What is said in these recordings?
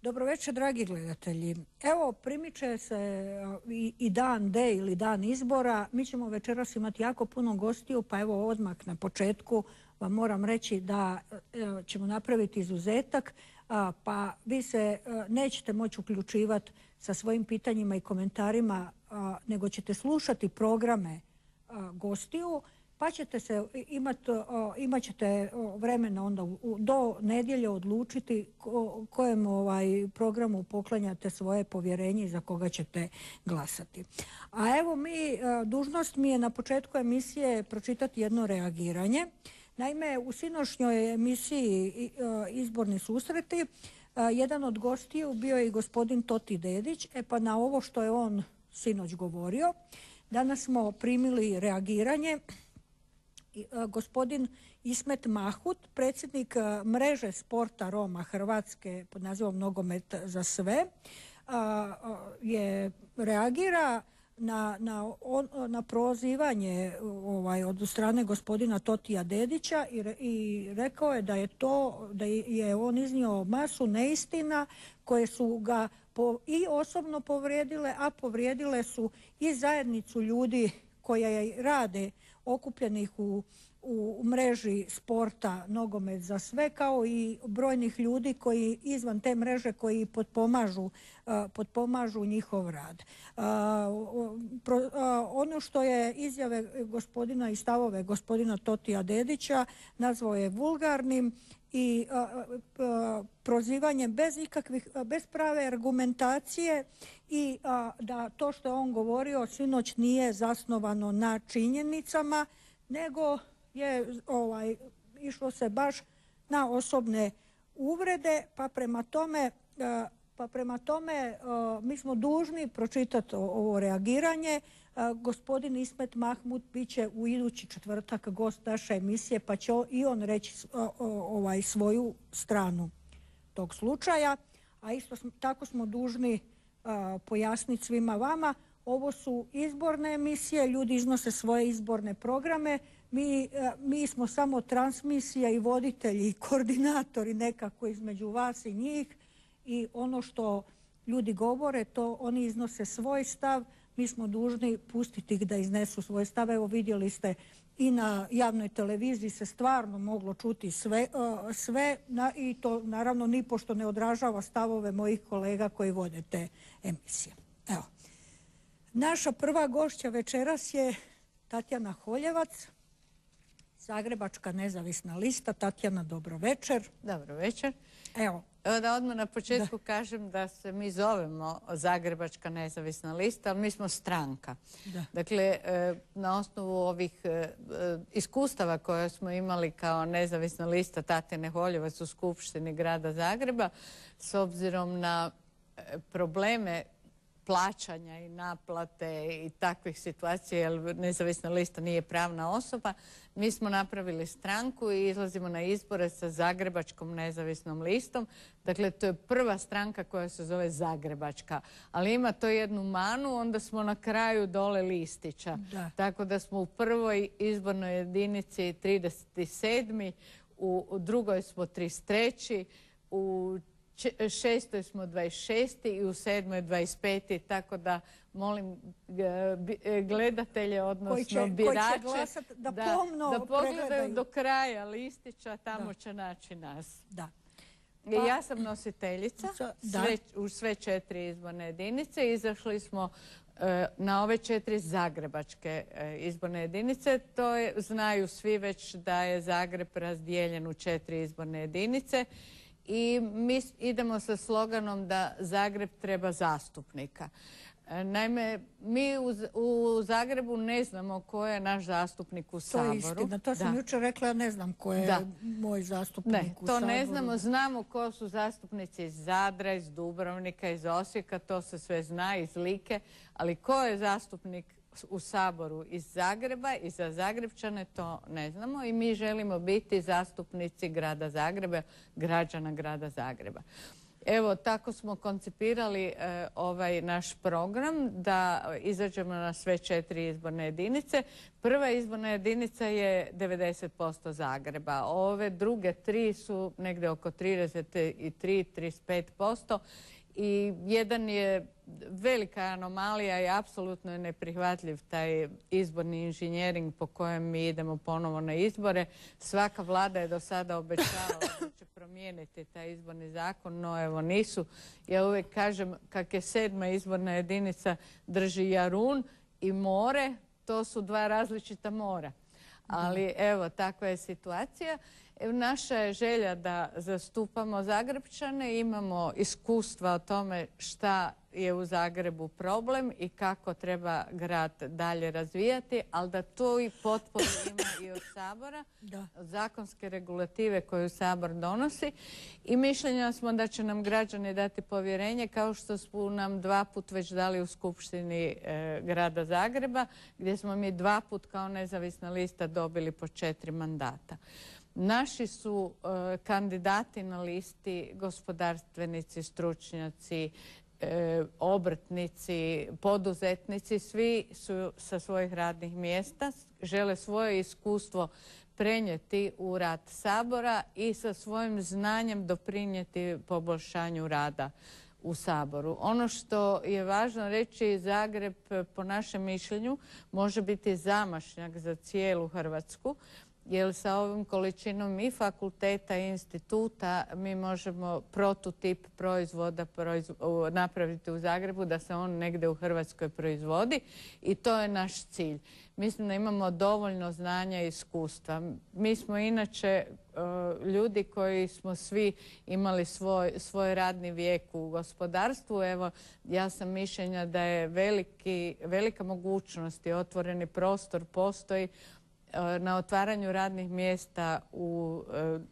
Dobro večer, dragi gledatelji. Evo, primiče se i dan D ili dan izbora. Mi ćemo večeras imati jako puno gostiju, pa evo odmah na početku vam moram reći da ćemo napraviti izuzetak, pa vi se nećete moći uključivati sa svojim pitanjima i komentarima, nego ćete slušati programe gostiju, pa ćete imat ćete vremena onda do nedjelje odlučiti kojem programu poklanjate svoje povjerenje i za koga ćete glasati. A evo dužnost mi je na početku emisije pročitati jedno reagiranje. Naime, u sinoćnjoj emisiji Izborni susreti jedan od gostiju bio je i gospodin Toti Dedić. Pa na ovo što je on sinoć govorio, danas smo primili reagiranje. Gospodin Ismet Mahmut, predsjednik mreže sporta Roma Hrvatske pod nazivom Nogomet za sve, reagira na prozivanje od strane gospodina Totija Dedića i rekao je da je on iznio masu neistina koje su ga i osobno povrijedile, a povrijedile su i zajednicu ljudi koja rade okupljenih u mreži sporta Nogomet za sve, kao i brojnih ljudi koji izvan te mreže koji potpomažu njihov rad. Ono što je izjave gospodina i stavove gospodina Totija Dedića nazvao je vulgarnim i prozivanjem bez prave argumentacije, i da to što je on govorio sinoć nije zasnovano na činjenicama, nego je išlo se baš na osobne uvrede, pa prema tome mi smo dužni pročitati ovo reagiranje. Gospodin Ismet Mahmut bit će u idući četvrtak gost naše emisije, pa će i on reći svoju stranu tog slučaja, a isto tako smo dužni pojasniti svima vama. Ovo su izborne emisije, ljudi iznose svoje izborne programe, mi smo samo transmisija i voditelji i koordinatori nekako između vas i njih, i ono što ljudi govore, to oni iznose svoj stav, mi smo dužni pustiti ih da iznesu svoj stav. Evo, vidjeli ste i na javnoj televiziji se stvarno moglo čuti sve i to naravno nipošto ne odražava stavove mojih kolega koji vode te emisije. Evo. Naša prva gošća večeras je Tatjana Holjevac, Zagrebačka nezavisna lista. Tatjana, dobro večer. Dobro večer. Evo da odmah na početku kažem da se mi zovemo Zagrebačka nezavisna lista, ali mi smo stranka. Dakle, na osnovu ovih iskustava koje smo imali kao nezavisna lista Tatjane Holjevac u Skupštini grada Zagreba, s obzirom na probleme plaćanja i naplate i takvih situacija, jer nezavisna lista nije pravna osoba, mi smo napravili stranku i izlazimo na izbore sa Zagrebačkom nezavisnom listom. Dakle, to je prva stranka koja se zove Zagrebačka, ali ima to jednu manu, onda smo na kraju dole listića. Tako da smo u prvoj izbornoj jedinici 37. u drugoj smo 33. u 6. smo 26. i u 7. 25. Tako da molim gledatelje, odnosno birače, da pogledaju do kraja listića, tamo će naći nas. Ja sam nositeljica u sve 4 izborne jedinice. Izašli smo na ove 4 zagrebačke izborne jedinice. Znaju svi već da je Zagreb razdijeljen u 4 izborne jedinice. I mi idemo sa sloganom da Zagreb treba zastupnika. Naime, mi u Zagrebu ne znamo ko je naš zastupnik u Saboru. To je istina, to sam jučer rekla, ja ne znam ko je moj zastupnik u Saboru. To ne znamo, znamo ko su zastupnici iz Zadra, iz Dubrovnika, iz Osijeka, to se sve zna, iz Like, ali ko je zastupnik u Saboru iz Zagreba i za Zagrebčane, to ne znamo, i mi želimo biti zastupnici grada Zagreba, građana grada Zagreba. Evo, tako smo koncipirali ovaj naš program da izađemo na sve 4 izborne jedinice. Prva izborna jedinica je 90% Zagreba. Ove druge 3 su negdje oko 33-35%. I jedan je velika anomalija i apsolutno je neprihvatljiv taj izborni inženjering po kojem mi idemo ponovo na izbore. Svaka vlada je do sada obećavala da će promijeniti taj izborni zakon, no evo nisu. Ja uvijek kažem kak je 7. izborna jedinica drži Jarun i more, to su 2 različita mora. Ali evo, takva je situacija. Naša je želja da zastupamo Zagrepčane, imamo iskustva o tome šta je u Zagrebu problem i kako treba grad dalje razvijati, ali da to i potporu ima i od Sabora, od zakonske regulative koju Sabor donosi. I mišljenja smo da će nam građani dati povjerenje kao što su nam 2 put već dali u Skupštini grada Zagreba, gdje smo mi 2 put kao nezavisna lista dobili po 4 mandata. Naši su kandidati na listi gospodarstvenici, stručnjaci, obrtnici, poduzetnici, svi su sa svojih radnih mjesta, žele svoje iskustvo prenijeti u rad Sabora i sa svojim znanjem doprinijeti poboljšanju rada u Saboru. Ono što je važno reći, Zagreb po našem mišljenju može biti zamašnjak za cijelu Hrvatsku, jer sa ovom količinom i fakulteta i instituta mi možemo prototip proizvoda napraviti u Zagrebu, da se on negdje u Hrvatskoj proizvodi i to je naš cilj. Mislim da imamo dovoljno znanja i iskustva. Mi smo inače ljudi koji smo svi imali svoj radni vijek u gospodarstvu. Evo, ja sam mišljenja da je velika mogućnost i otvoreni prostor postoji na otvaranju radnih mjesta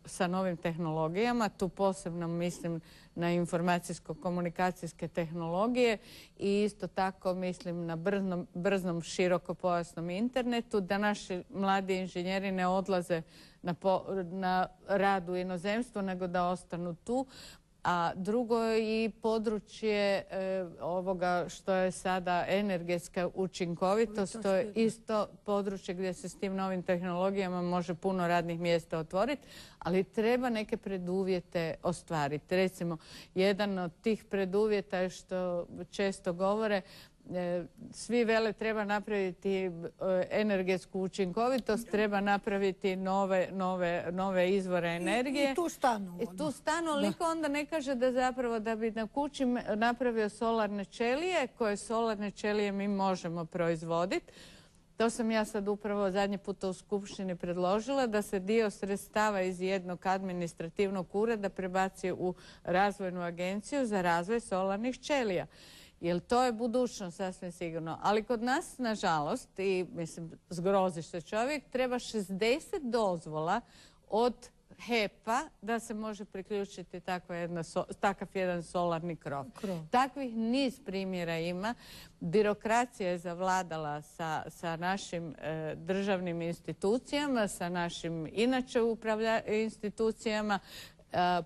sa novim tehnologijama. Tu posebno mislim na informacijsko-komunikacijske tehnologije i isto tako mislim na brzom širokopojasnom internetu, da naši mladi inženjeri ne odlaze na rad u inozemstvo, nego da ostanu tu. A drugo je i područje ovoga što je sada energetska učinkovitost. To je isto područje gdje se s tim novim tehnologijama može puno radnih mjesta otvoriti, ali treba neke preduvjete ostvariti. Recimo, jedan od tih preduvjeta je što često govore, svi vele treba napraviti energetsku učinkovitost, treba napraviti nove izvore energije. I tu stanu. I tu stanu, ali niko onda ne kaže da zapravo da bi na kući napravio solarne ćelije, koje solarne ćelije mi možemo proizvoditi. To sam ja sad upravo zadnji puta u Skupštini predložila, da se dio sredstava iz jednog administrativnog ureda prebaci u razvojnu agenciju za razvoj solarnih ćelija. Jer to je budućnost sasvim sigurno. Ali kod nas, nažalost, i mislim zgrozi se čovjek, treba 60 dozvola od HEP-a da se može priključiti takav jedan solarni krov. Takvih niz primjera ima. Birokracija je zavladala sa našim državnim institucijama, sa našim inače institucijama,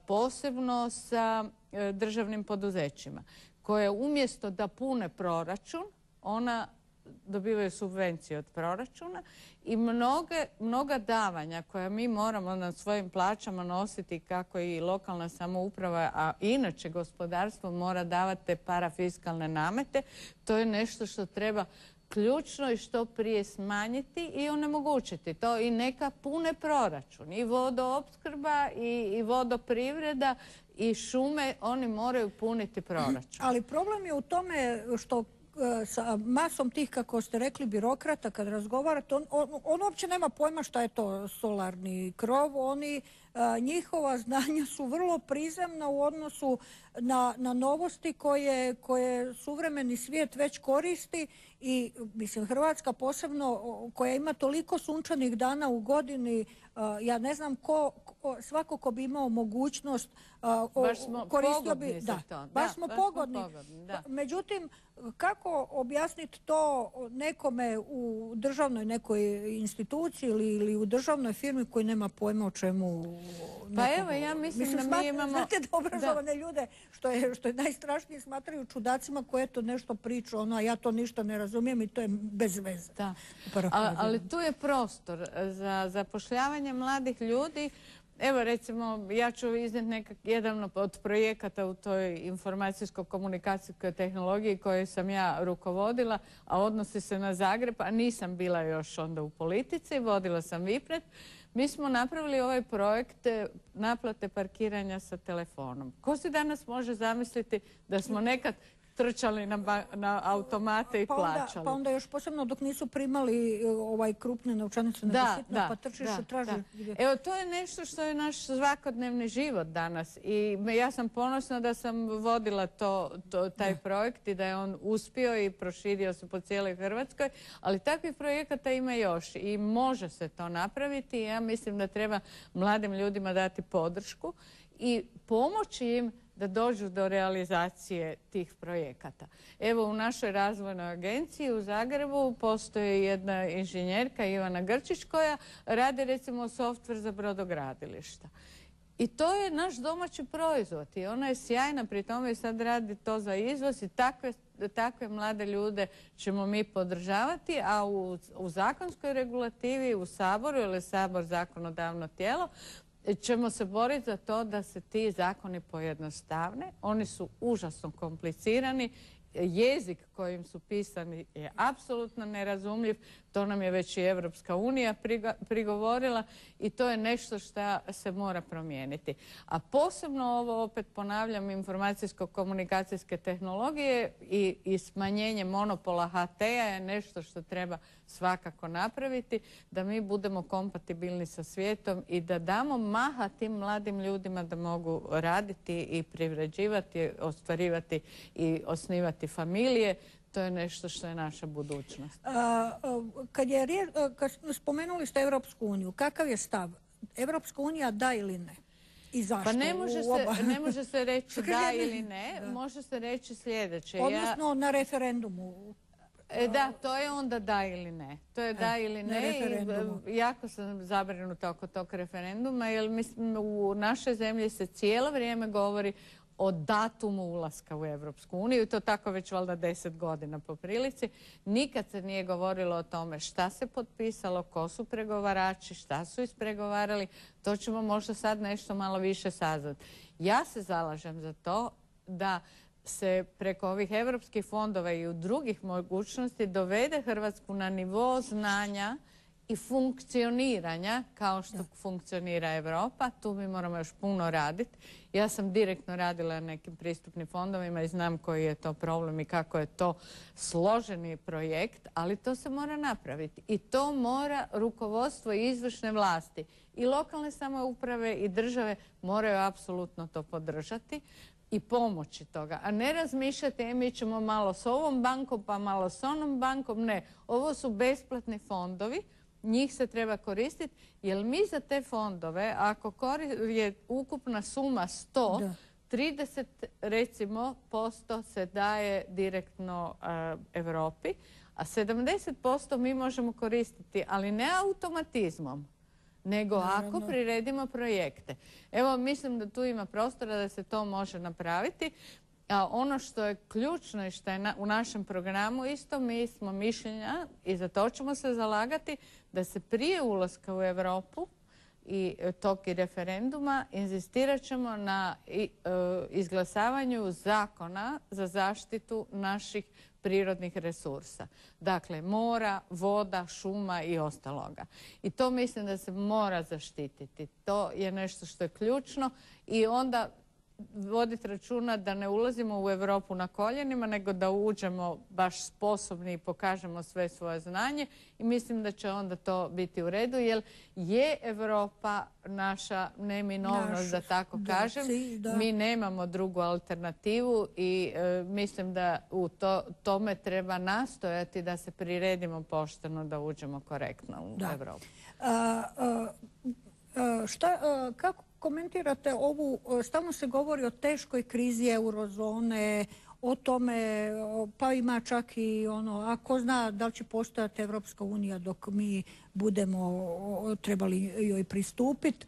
posebno sa državnim poduzećima, koje umjesto da pune proračun, ona dobivaju subvencije od proračuna i mnoga davanja koja mi moramo na svojim plaćama nositi, kako i lokalna samouprava, a inače gospodarstvo mora davati te parafiskalne namete. To je nešto što treba ključno i što prije smanjiti i onemogućiti to i neka pune proračun. I vodoopskrba i vodoprivreda i šume, oni moraju puniti proračun. Ali problem je u tome što sa masom tih, kako ste rekli, birokrata, kad razgovarate, on uopće nema pojma šta je to solarni krov. Njihova znanja su vrlo prizemna u odnosu na novosti koje suvremeni svijet već koristi I mislim, Hrvatska posebno koja ima toliko sunčanih dana u godini, ja ne znam svako ko bi imao mogućnost koristio bi, baš smo pogodni. Međutim, kako objasniti to nekome u državnoj nekoj instituciji ili u državnoj firmi koji nema pojma o čemu? Pa evo, ja mislim da mi imamo... Znate da obrazovane ljude, što je najstrašnije, smatraju čudacima koje to nešto priča, a ja to ništa ne razumijem i to je bez veze. Ali tu je prostor za zapošljavanje mladih ljudi. Evo recimo, ja ću iznijeti jedan od projekata u toj informacijsko-komunikacijskoj tehnologiji koju sam ja rukovodila, a odnosi se na Zagreb, a nisam bila još onda u politici, vodila sam Vipnet. Mi smo napravili ovaj projekt naplate parkiranja sa telefonom. Ko si danas može zamisliti da smo nekad trčali na automate i plaćali? Pa onda još posebno dok nisu primali krupne novčanice na sitno, pa trčiš i traži. Evo, to je nešto što je naš svakodnevni život danas i ja sam ponosna da sam vodila taj projekt i da je on uspio i proširio se po cijeloj Hrvatskoj, ali takvih projekata ima još i može se to napraviti. Ja mislim da treba mladim ljudima dati podršku i pomoći im da dođu do realizacije tih projekata. Evo, u našoj razvojnoj agenciji u Zagrebu postoji jedna inženjerka Ivana Grčić koja radi recimo softver za brodogradilišta. I to je naš domaći proizvod i ona je sjajna pri tome i sad radi to za izvoz i takve mlade ljude ćemo mi podržavati, a u zakonskoj regulativi u Saboru, jer je Sabor zakonodavno tijelo, ćemo se boriti za to da se ti zakoni pojednostavne. Oni su užasno komplicirani. Jezik kojim su pisani je apsolutno nerazumljiv. To nam je već i Evropska unija prigovorila i to je nešto što se mora promijeniti. A posebno ovo, opet ponavljam, informacijsko-komunikacijske tehnologije i smanjenje monopola HT-a je nešto što treba svakako napraviti, da mi budemo kompatibilni sa svijetom i da damo maha tim mladim ljudima da mogu raditi i privređivati, ostvarivati i osnivati familije. To je nešto što je naša budućnost. Kad spomenuli ste Europsku uniju, kakav je stav? Europska unija da ili ne? I zašto? Pa ne može se reći da ili ne, može se reći sljedeće. Odnosno na referendumu. Da, to je onda da ili ne. To je da ili ne i jako sam zabrinuta oko tog referenduma, jer mislim u našoj zemlji se cijelo vrijeme govori o datumu ulaska u Europsku uniju i to tako već valjda 10 godina po prilici. Nikad se nije govorilo o tome šta se potpisalo, ko su pregovarači, šta su ispregovarali. To ćemo možda sad nešto malo više saznati. Ja se zalažem za to da se preko ovih europskih fondova i u drugih mogućnosti dovede Hrvatsku na nivo znanja i funkcioniranja kao što funkcionira Europa. Tu mi moramo još puno raditi. Ja sam direktno radila na nekim pristupnim fondovima i znam koji je to problem i kako je to složeni projekt, ali to se mora napraviti. I to mora rukovodstvo i izvršne vlasti. I lokalne samouprave i države moraju apsolutno to podržati i pomoći toga, a ne razmišljati mi ćemo malo s ovom bankom pa malo s onom bankom. Ne, ovo su besplatni fondovi, njih se treba koristiti, jer mi za te fondove, ako je ukupna suma 100, 30 recimo posto se daje direktno Europi, a 70% mi možemo koristiti, ali ne automatizmom, nego ako priredimo projekte. Evo, mislim da tu ima prostora da se to može napraviti. A ono što je ključno i što je u našem programu isto, mi smo mišljenja i za to ćemo se zalagati da se prije ulaska u Europu i tog referenduma inzistirat ćemo na izglasavanju zakona za zaštitu naših prirodnih resursa. Dakle, mora, voda, šuma i ostaloga. I to mislim da se mora zaštititi. To je nešto što je ključno i onda voditi računa da ne ulazimo u Europu na koljenima, nego da uđemo baš sposobni i pokažemo sve svoje znanje i mislim da će onda to biti u redu, jer je Europa naša neminovnost, da tako kažem. Mi nemamo drugu alternativu i mislim da u tome treba nastojati da se priredimo pošteno, da uđemo korektno u Europu. Kako komentirate ovu, stalno se govori o teškoj krizi eurozone, o tome, pa ima čak i ono, a ko zna da li će postojati Evropska unija dok mi budemo trebali joj pristupiti.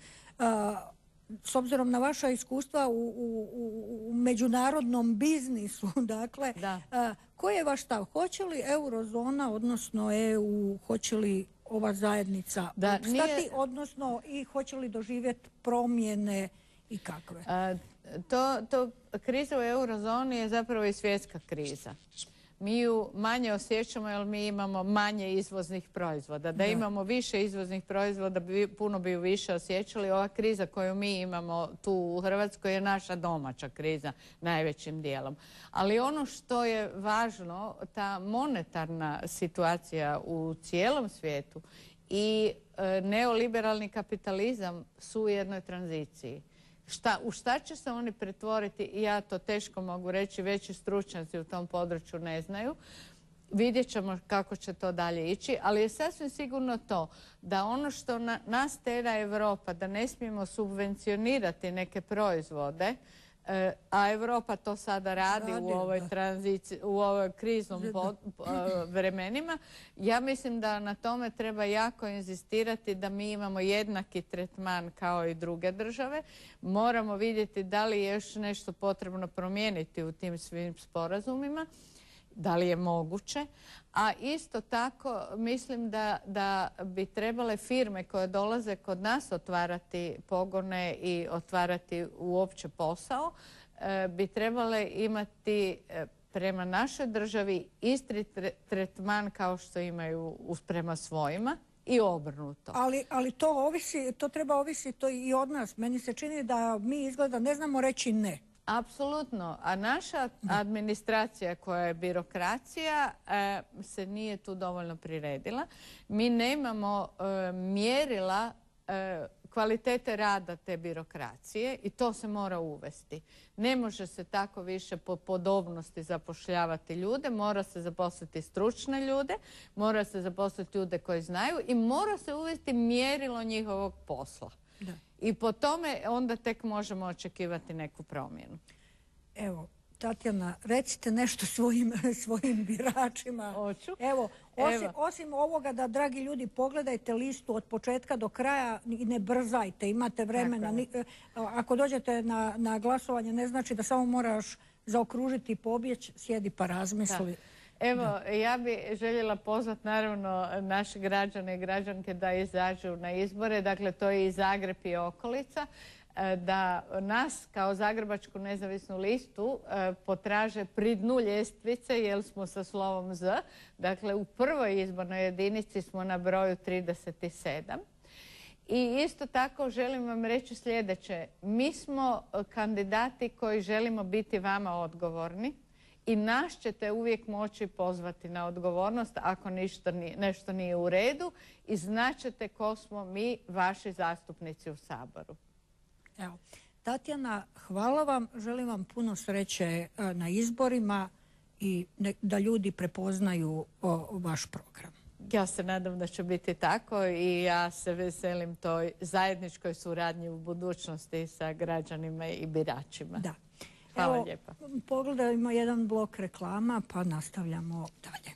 S obzirom na vaša iskustva u međunarodnom biznisu, dakle, koji je vaš stav? Hoće li eurozona, odnosno EU, hoće li ova zajednica opstati, odnosno i hoće li doživjeti promjene i kakve? Kriza u eurozoni je zapravo i svjetska kriza. Mi ju manje osjećamo jer mi imamo manje izvoznih proizvoda. Da imamo više izvoznih proizvoda, puno bi ju više osjećali. Ova kriza koju mi imamo tu u Hrvatskoj je naša domaća kriza najvećim dijelom. Ali ono što je važno, ta monetarna situacija u cijelom svijetu i neoliberalni kapitalizam su u jednoj tranziciji. U šta će se oni pretvoriti, ja to teško mogu reći, veći stručnjaci u tom području ne znaju. Vidjet ćemo kako će to dalje ići, ali je sasvim sigurno to da ono što nas tera Europa, da ne smijemo subvencionirati neke proizvode, a Europa to sada radi u ovoj tranziciji, u ovoj kriznom vremenima. Ja mislim da na tome treba jako inzistirati da mi imamo jednaki tretman kao i druge države. Moramo vidjeti da li je još nešto potrebno promijeniti u tim svim sporazumima, da li je moguće. A isto tako mislim da bi trebale firme koje dolaze kod nas otvarati pogone i otvarati uopće posao, bi trebale imati prema našoj državi isti tretman kao što imaju prema svojima i obrnuto. Ali to treba ovisiti i od nas. Meni se čini da mi izgleda ne znamo reći ne. Apsolutno, a naša administracija koja je birokracija se nije tu dovoljno priredila. Mi nemamo mjerila kvalitete rada te birokracije i to se mora uvesti. Ne može se tako više po podobnosti zapošljavati ljude, mora se zaposliti stručne ljude, mora se zaposliti ljude koji znaju i mora se uvesti mjerilo njihovog posla. I po tome onda tek možemo očekivati neku promjenu. Evo, Tatjana, recite nešto svojim biračima. Hoću. Evo, osim ovoga da, dragi ljudi, pogledajte listu od početka do kraja i ne brzajte, imate vremena. Ako dođete na glasovanje, ne znači da samo moraš zaokružiti i pobjeći, sjedi pa razmisli. Evo, ja bih željela pozvati naravno naše građane i građanke da izađu na izbore. Dakle, to je i Zagreb i okolica. Da nas kao Zagrebačku nezavisnu listu potraže pri dnu ljestvice jer smo sa slovom Z. Dakle, u prvoj izbornoj jedinici smo na broju 37. I isto tako želim vam reći sljedeće. Mi smo kandidati koji želimo biti vama odgovorni. I nas ćete uvijek moći pozvati na odgovornost ako nešto nije u redu i znaćete ko smo mi, vaši zastupnici u Saboru. Evo, Tatjana, hvala vam. Želim vam puno sreće na izborima i da ljudi prepoznaju vaš program. Ja se nadam da će biti tako i ja se veselim toj zajedničkoj suradnji u budućnosti sa građanima i biračima. Da. Hvala lijepa. Pogledajmo jedan blok reklama pa nastavljamo dalje.